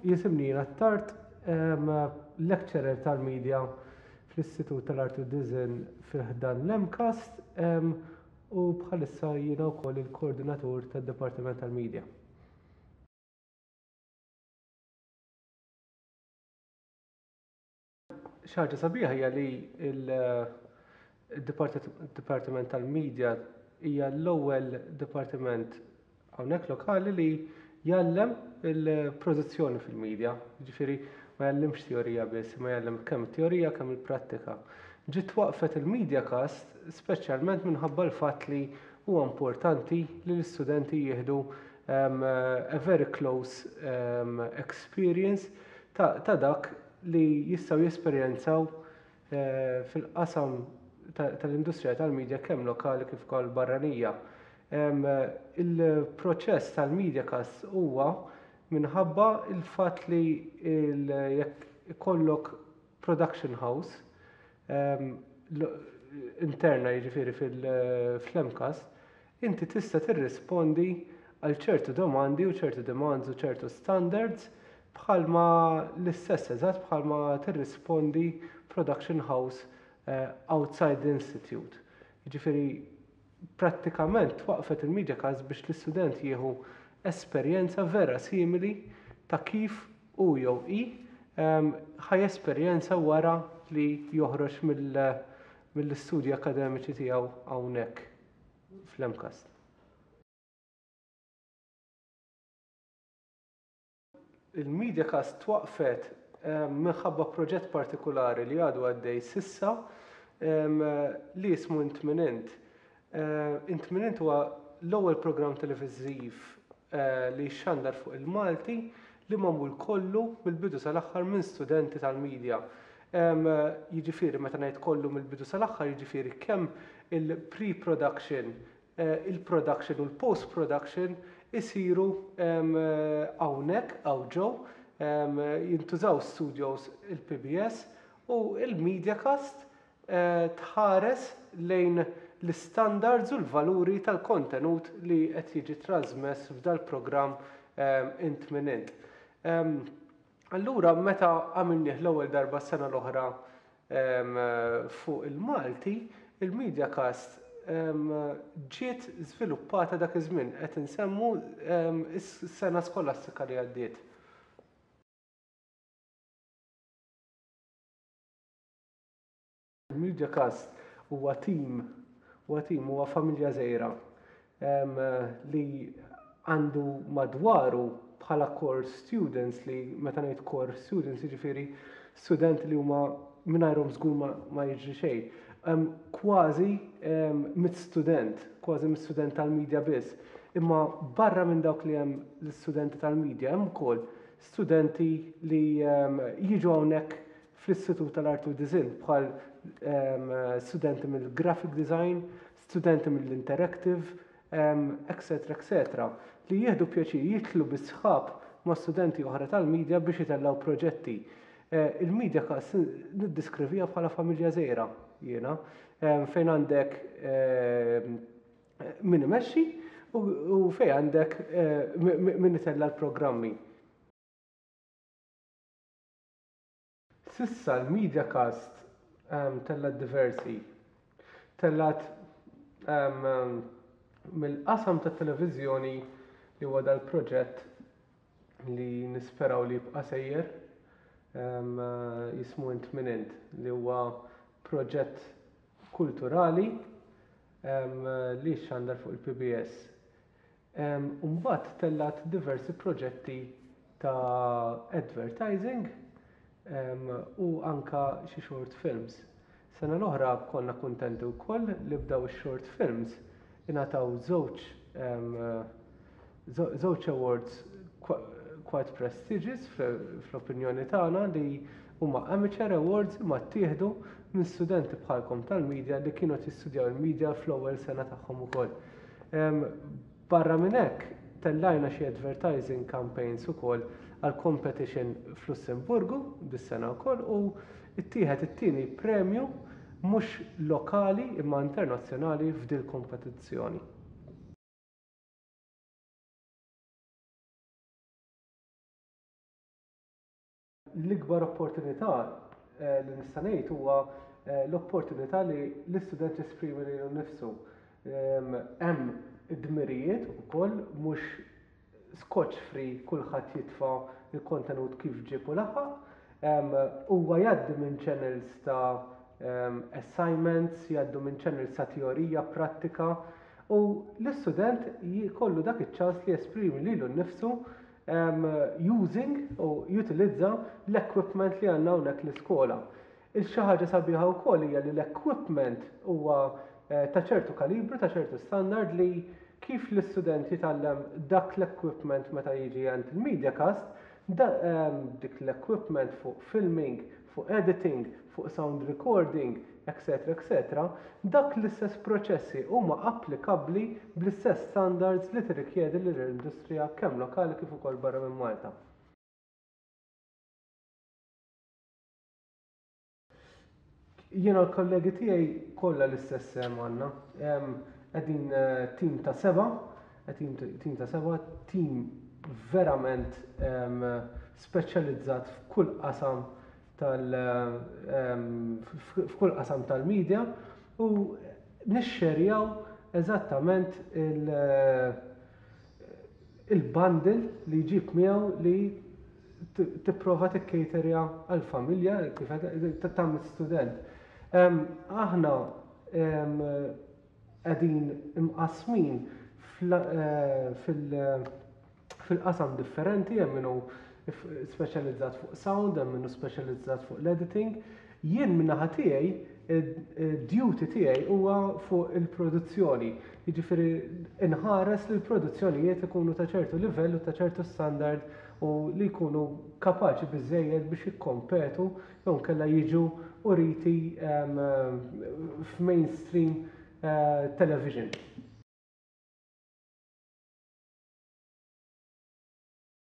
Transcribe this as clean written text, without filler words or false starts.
Jisimni Ian Attard, lecturer tal-media fl-Istitut tal-Arti u Disinn fi ħdan l-MCAST u bħalissa jiena wkoll il-koordinatur tad-Dipartiment tal-Media. Xi ħaġa sabiħa hija li l-Dipartiment tal-Media hija l-ewwel dipartiment hawnhekk lokali li jgħallem il-produzzjoni fil-media. Jiġifieri ma jgħallimx teorija biss, imma jgħallem kemm it-teorija kemm il-prattika. Ġiet twaqqfet il-MediaCast speċjalment minħabba l-fatt li huwa importanti li l-istudenti jieħdu a very close experience ta' dak li jistgħu jesperjenzaw fil-qasam tal-industrija tal-media kemm lokali kif ukoll barranija. Il-proċess tal-MediaCast huwa minħabba l-fatt li jekk ikollok production house interna jiġifieri fl-MCAST, inti tista' tirrispondi għal ċertu domandi u ċertu demands u ċertu standards bħalma l-istess eżatt bħalma tirrispondi production house outside the institute. Jiġifieri prattikament twaqqfet il-MediaCast biex l-istudent jieħu esperjenza vera simili ta' kif hu jew hi ħa jesperjenza wara li joħroġ mill-istudji akademiċi tiegħu hawnhekk fl-MCAST. Il-MediaCast twaqqfet minħabba proġett partikulari li għadu għaddej sissa li jismu Int Min Int. Int Min Int huwa l-ewwel programm televiżiv li jxandar fuq il-Malti li magħmul kollu mill-bidu sal-aħħar minn studenti tal-media. Jiġifieri meta ngħid kollu mill-bidu sal-aħħar jiġifieri kemm il-pre-production, il-production u l-post-production isiru hawnhekk hawn ġew, jintużaw studios il-PBS u l-MediaCast tħares lejn l-istandards u l-valuri tal-kontenut li qed jiġi trasmess f'dal-programm Int Min Int. Allura meta għamilnieh l-ewwel darba s-sena l-oħra fuq il-Malti, il-MediaCast ġiet żviluppata dak iż-żmien, qed insemmu s-sena skolastika li għaddiet. Il-MediaCast huwa tim, huwa tim, huwa familja żgħira li għandu madwaru bħala core students li meta ngħid core students jiġifieri studenti li huma mingħajrhom żgur ma, ma jiġri xejn. Kważi mit student, kważi mit student tal-media biss. Imma barra minn dawk li hemm l-istudenti tal-media hemm ukoll studenti li jiġu hawnhekk fl-Istitut tal-Arti u Disinn bħal studenti mill-graphic design, studenti mill-interactive, etc. Etc. Li jieħdu pjaċir jidħlu bi sħab ma' studenti oħra tal-media biex itellgħu proġetti. Il-media cast niddiskrivija bħala familja żgħira jiena, fejn għandek min imexxi u fejn għandek min itella' l-programmi. S'issa l-MediaCast tellgħet diversi. Tellgħet mill-qasam tat-televiżjoni li huwa dal-proġett li nisperaw li jibqa' sejjer jismu Int Min Int li huwa proġett kulturali li xxandar fuq il-PBS. U mbagħad tellgħet diversi proġetti ta' advertising u anka xi short films. Sena l-oħra konna kuntenti wkoll li b'daw ix-short films ingħataw żewġ żewġ awards quite prestigious fl-opinjoni tagħna li huma amateur awards imma ttieħdu minn studenti bħalkom tal-media li kienu qed jistudjaw il-media fl-ewwel sena tagħhom ukoll. Barra minn hekk, tellajna xi advertising campaigns ukoll għal competition f'Lussemburgu dis-sena wkoll u ttieħed it-tieni premju mhux lokali imma internazzjonali f'dil-kompetizzjoni. L-ikbar opportunità li nista' ngħid huwa l-opportunità li l-istudent jesprimi lilu nnifsu. Hemm id-dmirijiet ukoll mhux scotch free kulħadd jitfa' l-kontenut kif ġieb u laħaq. Huwa jgħaddi minn channels ta' assignments, jgħaddu minn channels ta' teorija, prattika u l-istudent jkollu dak iċ-ċans li jesprimi lilu nnifsu using u jutilizza l-equipment li għandna hawnhekk l-iskola. Il-xi ħaġa sabiħa wkoll hija li l-equipment huwa ta' ċertu kalibru, ta' ċertu standard li kif l-istudent jitgħallem dak l-equipment meta jiġi għand il-MediaCast, dik l-equipment fuq filming, fuq editing, fuq sound recording, etc. Etc. Dak l-istess proċessi huma applikabbli bl-istess standards li tirrikjedi l-industrija kemm lokali kif ukoll barra minn Malta. Jiena l-kollegi tiegħi kollha l-istess sehem għandna. Qegħdin tim ta' seba', tim ta' seba', tim verament speċjalizzat f'kull qasam tal f'kull qasam tal-media u nixxerjaw eżattament il-bundle li jġib miegħu li tipprova tikkejterja għall-familja kif tagħmel student. Aħna qegħdin imqassmin fil-qasam differenti, hemm min hu speċjalizzat fuq sound, hemm min hu speċjalizzat fuq l-editing. Jien min-naħa tiegħi, id-duty tiegħi huwa fuq il-produzzjoni. Jiġifieri nħares li l-produzzjonijiet ikunu ta' ċertu livell u ta' ċertu standard u li jkunu kapaċi biżżejjed biex jikkompetu jew inkella jiġu uriti f'mainstream television.